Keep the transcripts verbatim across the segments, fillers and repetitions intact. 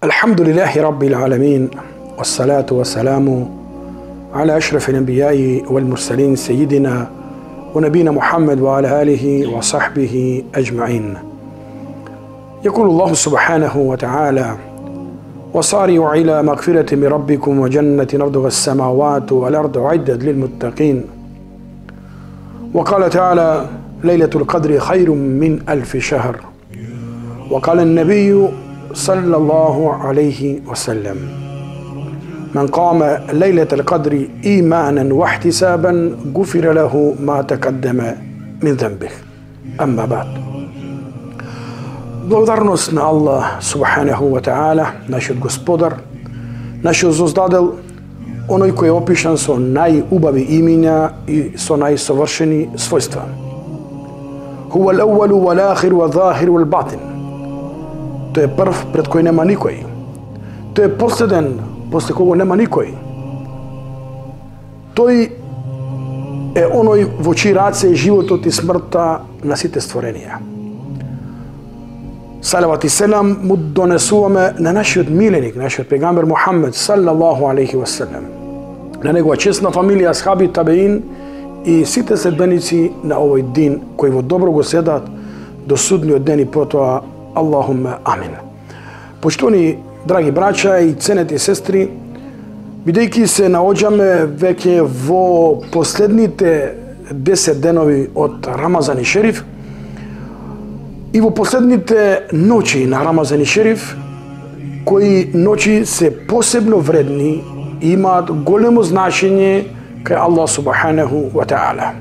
الحمد لله رب العالمين والصلاة والسلام على أشرف الأنبياء والمرسلين سيدنا ونبينا محمد وعلى آله وصحبه أجمعين. يقول الله سبحانه وتعالى: وصارعوا إلى مغفرة من ربكم وجنة أرضها السماوات والأرض أعدت للمتقين. وقال تعالى: ليلة القدر خير من ألف شهر. وقال النبي صلى الله عليه وسلم: من قام ليلة القدر إيمانا واحتسابا غفر له ما تقدم من ذنبه. أما بعد. Благодарност на Аллах Субханаху ва Таала, нашиот Господар, нашиот Создадел, оној кој е опишан со најубави имиња и со најсовршени својства. Хуа ал-awwal wal-akhir wal-zahir wal-batin. Тој е прв пред кој нема никој. Тој е последен после кого нема никој. Тој е оној во чии раце е животот и смртта на сите створенија. Салават и селам му донесуваме на нашиот миленик, нашиот пегамбер Мухаммед саллаллаху алейхи ва селем, на негова чесна фамилија, асхаби, табеин и сите следбеници на овој дин кои во добро го седат до судниот ден и потоа Аллахумма амин. Почитувани драги браќа и ценети сестри, бидејќи се наоѓаме веќе во последните десет денови од Рамазан и Шериф, и во последните ноќи на Рамазан и Шериф, кои ноќи се посебно вредни и имаат големо значење кај Аллах Субханаху ва Таала.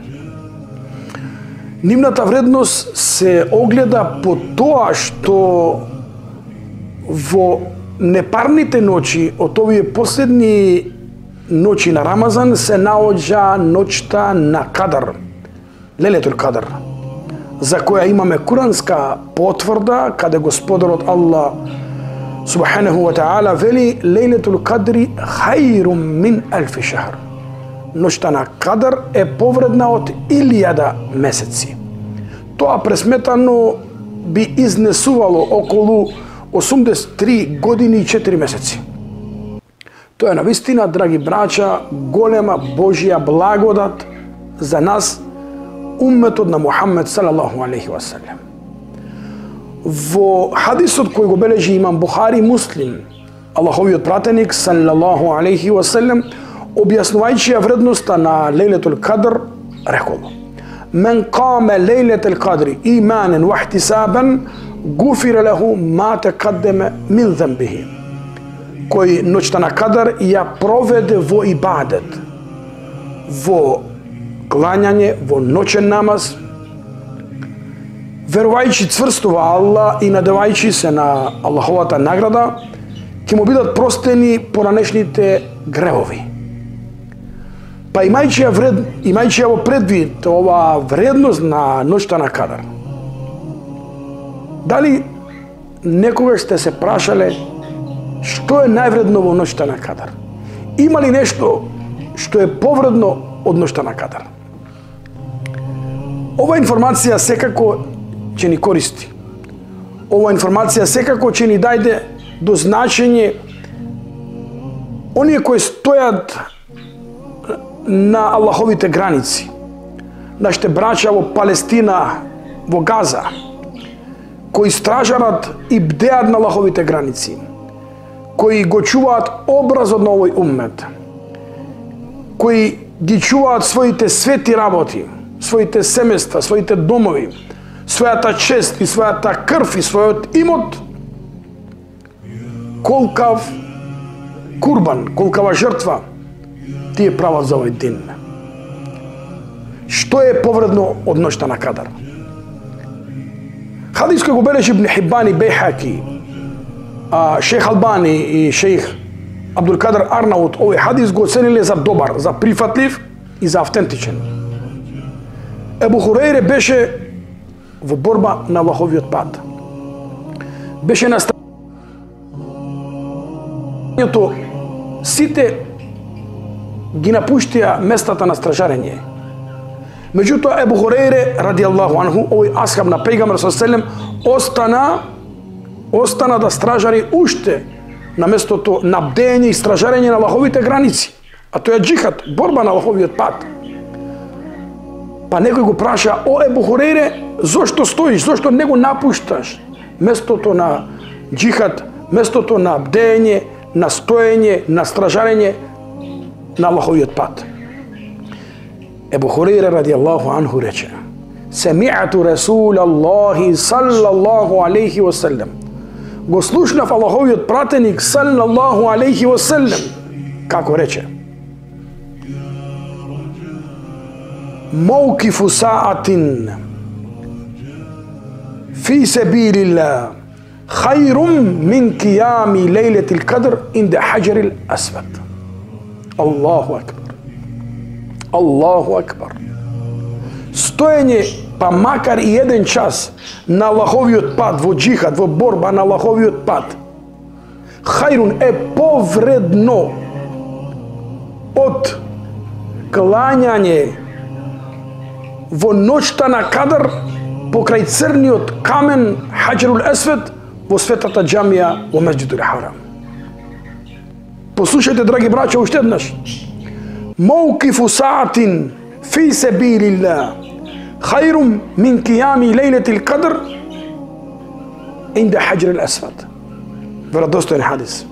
Нивната вредност се огледа по тоа што во непарните ноќи од овие последни ноќи на Рамазан се наоѓа ноќта на Кадар, Лелетул Кадар, за која имаме куранска потврда, каде Господарот Аллах Субханаху ва Таала вели: Лейлетул Кадри хајрум мин алфи шахр. Ноќта на Кадар е повредна од илјада месеци. Тоа пресметано би изнесувало околу осумдесет и три години и четири месеци. Тоа е навистина, драги браќа, голема Божја благодат за нас, умметот на Мухаммед салаллаху алейхи ва селем. Во хадисот кој го бележи имам Бухари и Муслим, Аллаховиот пратеник салаллаху алейхи ва селем, објаснувајќи ја вредноста на Лейлетул Кадр, рекол: Мен каме Лейлетул Кадри иманен ва ихтисабан гуфира леху ма текаддеме мин зембихи. Кој ноќта на Кадр ја проведе во ибадет, во клањање, во ноќен намаз, верувајќи цврсто во Аллах и надевајќи се на Аллаховата награда, ќе му бидат простени поранешните гревови. Па имајќи ја вред, имајќи ја во предвид ова вредност на ноќта на Кадар, дали некогаш сте се прашале што е највредно во ноќта на Кадар? Има ли нешто што е повредно од ноќта на Кадар? Ова информација секако ќе ни користи. Ова информација секако ќе ни дајде до значење оние кои стојат на Аллаховите граници, нашите браќа во Палестина, во Газа, кои стражарат и бдеат на Аллаховите граници, кои го чуваат образот на овој уммет, кои ги чуваат своите свети работи, своите семејства, своите домови, својата чест и својата крв и својот имот, колкав курбан, колкава жртва тие прават за овој дин. Што е повредно од ноќта на Кадар? Хадис кој го бележи Ибн Хиббан и Бейхаки, а шех Албани и шех Абдул Кадр Арнаут овој хадис го оцениле за добар, за прифатлив и за автентичен. Ебу Хурейре беше во борба на Аллаховиот пат. Беше на станјето сите ги напуштија местата на стражарење. Меѓутоа Ебу Хурейре радијаллаху анху, овој асхаб на пејгамбер саллаллаху алейхи веселем, остана остана да стражари уште на местото на бдење и стражарење на Аллаховите граници, а тоа е џихад, борба на Аллаховиот пат. Па некој го праша: о Ебу Хурейре, зошто стоиш, зошто не го напушташ местото на џихад, местото на бдење, на стоење, на стражарење на Аллаховиот пат? Ебу Хурейре радијаллаху анху рече: Семи'ату Расулаллахи саллаллаху алейхи ва саллем. Го слушнав Аллаховиот пратеник саллаллаху алейхи ва саллем како рече: Мауқифу саатин фи сабилилlah хайрум мин қиями лейлетил кадр инда хаджарил асвад. Аллаху акбар. Аллаху акбар. Стоење па макар и еден час на Аллаховиот пат, во џихад, во борба на Аллаховиот пат, хајрун е повредно од клањање во ноќта на Кадр покрај црниот камен Хаджарул Асвад во светата џамија во Месџидул Харам. Послушајте, драги браќа, уште еднаш. Мауқифу саатин фи сабилилlah хайрум мин қиями лейлетил кадр инда Хаджарул Асвад. Веродостоен хадис.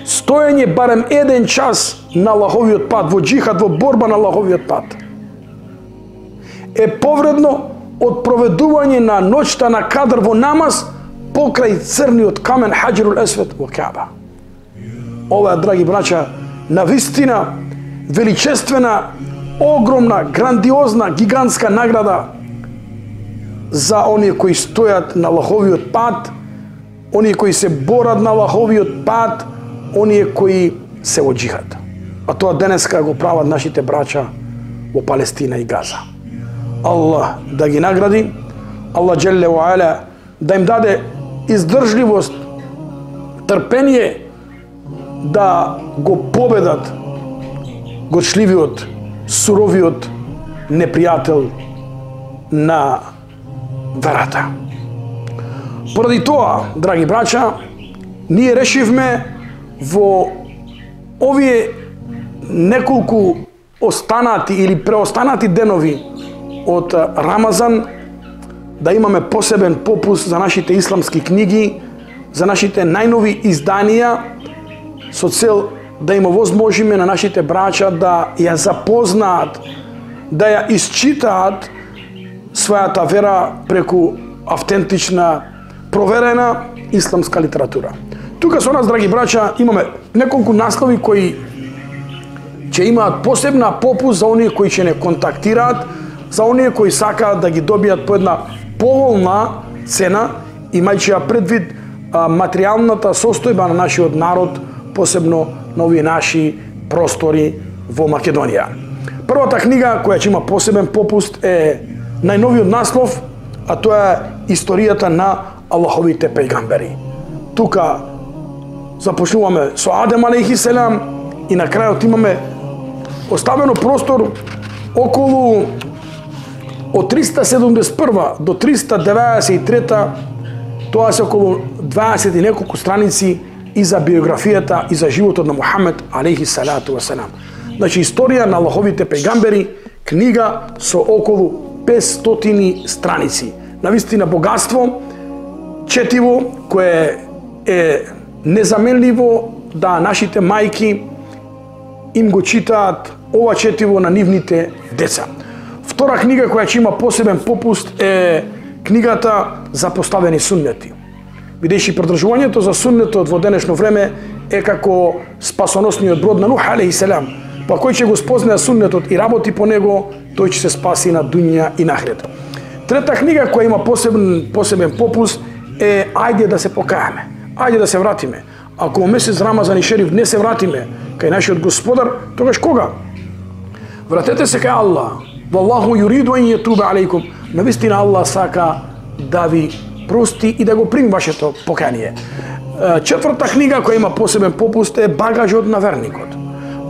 Стоење барем еден час на Аллаховиот пат, во џихад, во борба на Аллаховиот пат, е повредно од проведување на ноќта на Кадр во намаз покрај црниот камен Хаджарул Асвад во Каба. Ова е, драги браќа, навистина величествена, огромна, грандиозна, гигантска награда за оние кои стојат на Аллаховиот пат, оние кои се борат на Аллаховиот пат, оние кои се во џихад. А тоа денеска го прават нашите браќа во Палестина и Газа. Аллах да ги награди, Аллах џелле ва ала да им даде издржливост, трпение да го победат горчливиот, суровиот непријател на верата. Поради тоа, драги браќа, ние решивме во овие неколку останати или преостанати денови од Рамазан да имаме посебен попуст за нашите исламски книги, за нашите најнови изданија, со цел да им овозможиме на нашите браќа да ја запознаат, да ја исчитаат својата вера преку автентична, проверена исламска литература. Тука со нас, драги браќа, имаме неколку наслови кои ќе имаат посебна попуст за оние кои ќе не контактираат, за оние кои сакаат да ги добијат по една поволна цена, имајќи ја предвид а, материјалната состојба на нашиот народ, посебно на овие наши простори во Македонија. Првата книга која ќе има посебен попуст е најновиот наслов, а тоа е историјата на Аллаховите пејгамбери. Тука започнуваме со Адем алейхи селам и на крајот имаме оставено простор околу од триста седумдесет и прва до триста деветдесет и трета, тоа се околу дваесет и неколку страници и за биографијата и за животот на Мухамед алейхи салату васелам. Значи, историја на Аллаховите пејгамбери, книга со околу петстотини страници. Навистина богатство, четиво, кое е незаменливо да нашите мајки им го читаат ова четиво на нивните деца. Втора книга која ќе има посебен попуст е книгата за поставени суннети. Бидејќи придржувањето за суннетот во денешно време е како спасоносниот брод на Нух алейхи селам. Па кој ќе го спознае суннетот и работи по него, тој ќе се спаси на дуња и на ахирет. Трета книга која има посебен посебен попуст е ајде да се покајаме, ајде да се вратиме. Ако во месец Рамазан и Шериф не се вратиме кај нашиот Господар, тогаш кога? Вратете се кај Аллах. Валлаху юриду ан јетуба алейкум. Навистина Аллах сака да ви прости и да го прими вашето покаяние. Четврта книга која има посебен попуст е багажот на верникот.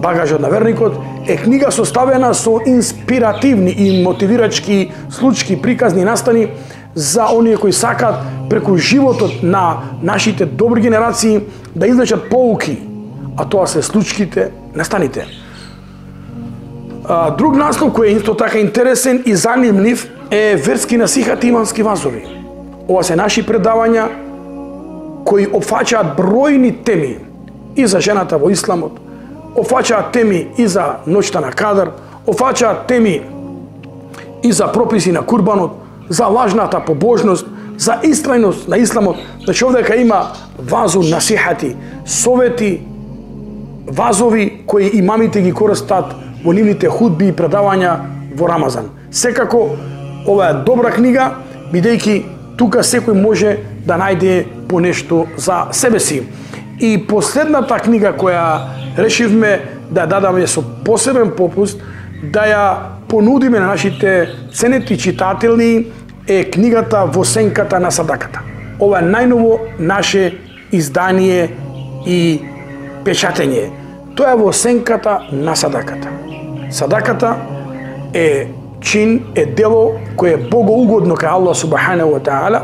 багажот на верникот, е книга составена со инспиративни и мотивирачки случки, приказни настани за оние кои сакаат преку животот на нашите добри генерации да извлечат поуки, а тоа се случките, настаните. Друг наслов кој е исто така интересен и занимлив е верски насихати имански вазови. Ова се наши предавања кои опфаќаат бројни теми и за жената во исламот, опфаќаат теми и за ноќта на Кадр, опфаќаат теми и за прописи на курбанот, за лажната побожност, за истрајност на исламот. Значи овдека има вазу насихати, совети, вазови кои имамите ги користат во нивните худби и предавања во Рамазан. Секако ова е добра книга, бидејќи тука секој може да најде по нешто за себе си. И последната книга која решивме да дадаме со посебен попуст, да ја понудиме на нашите ценети читатели, е книгата Во сенката на садаката. Ова е најново наше издание и печатење. Тоа е Во сенката на садаката. Садаката е чин, е дело кое е богоугодно кај Аллах субханаху ва таала.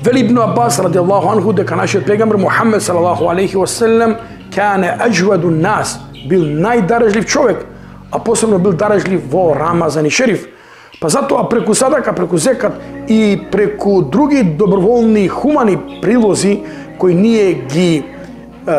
Вели Ибн Аббас радијаллаху анху дека нашиот пегамбер Мухаммед салаллаху алейхи ва селем кане аџваду нас, бил најдарежлив човек, а посебно бил дарежлив во Рамазан и Шериф. Па затоа преку садака, преку зекат и преку други доброволни хумани прилози кои ние ги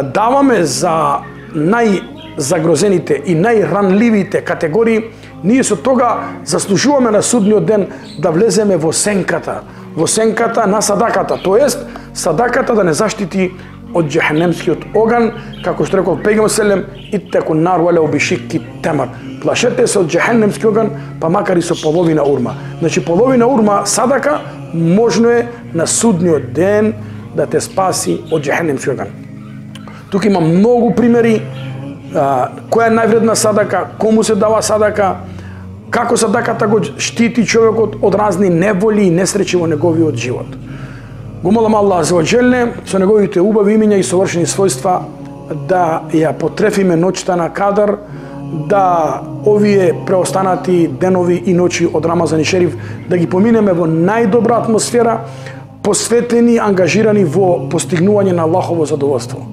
даваме за најзагрозените и најранливите категории, ние со тога заслужуваме на судниот ден да влеземе во сенката, во сенката на садаката, тоест садаката да не заштити од џехенемскиот оган, како што рекол пегамбер селем, иттаку нар валау бишикки тамар. Плашете се од џехенемски оган, па макар и со половина урма. Значи половина урма садака можно е на судниот ден да те спаси од џехенемски оган. Тука има многу примери, а, која е највредна садака, кому се дава садака, како садаката го штити човекот од разни неволи и несреќи во неговиот живот. Го молам Аллах азza ва џелле со неговите убави имиња и совршени својства да ја потрефиме ноќта на Кадр, да овие преостанати денови и ноќи од Рамазан и Шериф да ги поминеме во најдобра атмосфера, посветени, ангажирани во постигнување на Аллахово задоволство.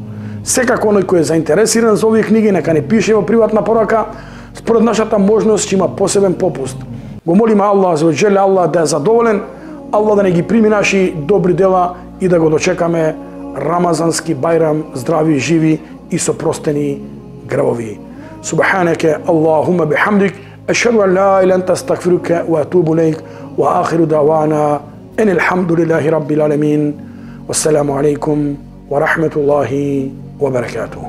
Секако оној кој е заинтересиран за овие книги, нека не пише во приватна порака, според нашата можност ќе има посебен попуст. Го молиме Аллах азza ва џелле, Аллах да е задоволен, Аллах да не ги прими наши добри дела и да го дочекаме рамазански бајрам здрави, живи и со простени гревови. Субханаке Аллахума бихамдик, ашхаду ан ла илаха илля анта, астагфирука ва атубу илейк, ва ахиру давана ан алхамдулиллахи раббил аламин. Вассаламу алейкум ва рахматуллахи ва баракатух.